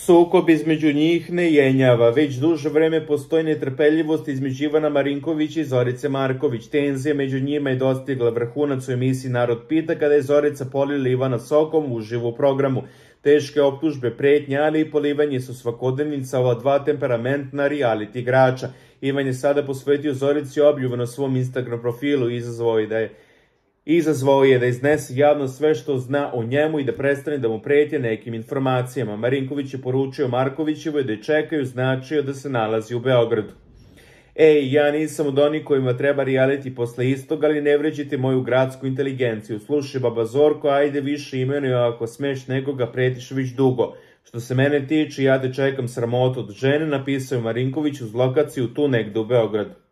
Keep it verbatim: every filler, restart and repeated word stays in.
Sukob između njih ne jenjava. Već duže vreme postoji netrpeljivost između Ivana Marinkovića i Zorice Marković. Tenzija među njima je dostigla vrhunac u emisiji Narod pita kada je Zorica polila Ivana sokom uživo u programu. Teške optužbe, pretnje, ali i polivanje su svakodnevnica ova dva temperamentna reality igrača. Ivan je sada posvetio Zorici obljubu na svom Instagram profilu i izazvao je da je Izazvao je da iznese javno sve što zna o njemu i da prestane da mu pretje nekim informacijama. Marinković je poručio Markovićevoj da je čekaju, značio da se nalazi u Beogradu. Ej, ja nisam od onih kojima treba reality posle istog, ali ne vređite moju gradsku inteligenciju. Slušaj, baba Zorko, ajde više imenuj, ako smeš nekoga pretiš već dugo. Što se mene tiče, ja da čekam sramotu od žene, napisao je Marinković uz lokaciju tu negde u Beogradu.